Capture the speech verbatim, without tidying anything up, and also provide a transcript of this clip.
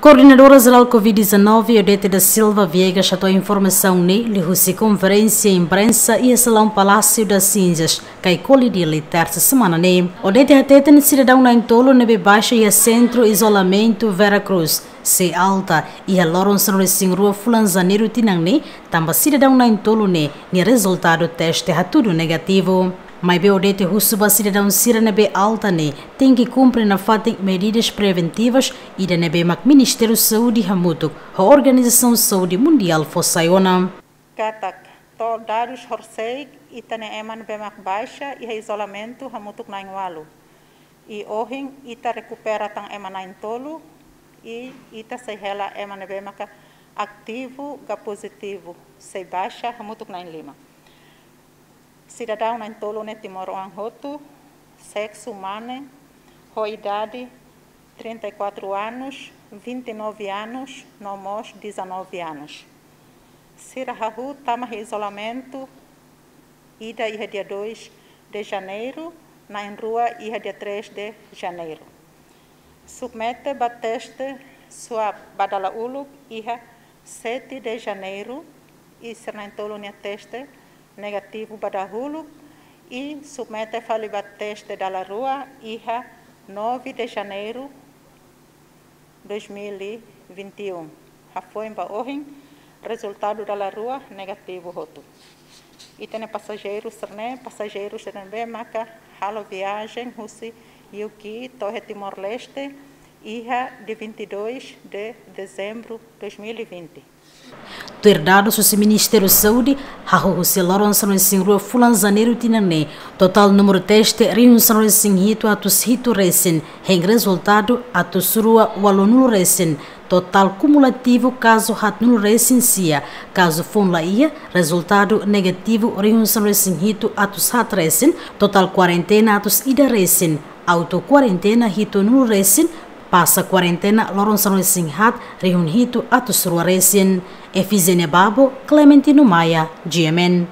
Koordenadora Jerál Covid dezanove, Odete da Silva Viegas, hato'o informasaun ne'e liuhusi konferénsia imprensa iha salaun Palácio das Cinzas, Caicoli, Dili, tersa semana ne'e. Odete hateten sidadaun na'in-tolu ne'ebé baixa iha Sentru Izolamentu Vera Cruz, sei alta iha loron sanulu-resin-rua fulan Janeiru tinan ne'e, tanba sidadaun na'in-tolu ne'e nia rezultadu teste hatudu negativu. Maibé Odete husu ba sidadaun sira ne'ebé alta ne'e tenke kumpre nafatin medidas preventivas, ida ne'ebé mak Ministériu Saúde hamutuk ho Organizasaun Saúde Mundiál fó sai ona. Katak, to'o dadus horisehik, ita-nia ema ne'ebé mak baixa iha izolamentu hamutuk na'in-ualu. I ohin ita rekupera tan ema na'in-tolu, i ita sei hela ema ne'ebé maka ativu ka pozitivu, sei baixa hamutuk na'in-lima. Sidadaun na'in-tolu ne'e timoroan hotu, seksu mane, ho idade trinta e quatro anos, vinte e nove anos, no mós dezanove anos. Sira hahú tama iha izolamentu, ida iha dia dois de Janeiro, na'in-rua iha dia três de Janeiro. Submete ba teste swab ba dala uluk iha sete de Janeiro, i sira na'in-tolu nia teste negativu ba dahuluk, i submete fali ba teste dala rua iha nove de Janeiro dois mil e vinte e um. Hafoin ba ohin, rezultadu dala rua negativu hotu. Ita-nia pasajeiru sira-ne'e, pasajeiru sira ne'ebé maka halo viajen husi U K to'o iha Timor-Leste, iha dia vinte e dois de dezembro dois mil e vinte. Tuir dadus husi Ministériu Saúde, hahú husi loron sanulu-resin-rua fulan Janeiru tinan ne'e, totál númeru teste rihun sanulu-resin-hitu atus hitu resin, hein rezultadu atus rua ualunulu resin, totál kumulativu kazu haatnulu resin-sia, kazu foun la iha, rezultadu negativu rihun sanulu-resin-hitu atus haat resin, totál kuarentena atus ida resin, auto kuarentena hitunulu resin, pasa kuarentena loron sanulu-resin-haat rihun hitu atus rua resin. Efizénia Babo, Clementino Maia, G M N.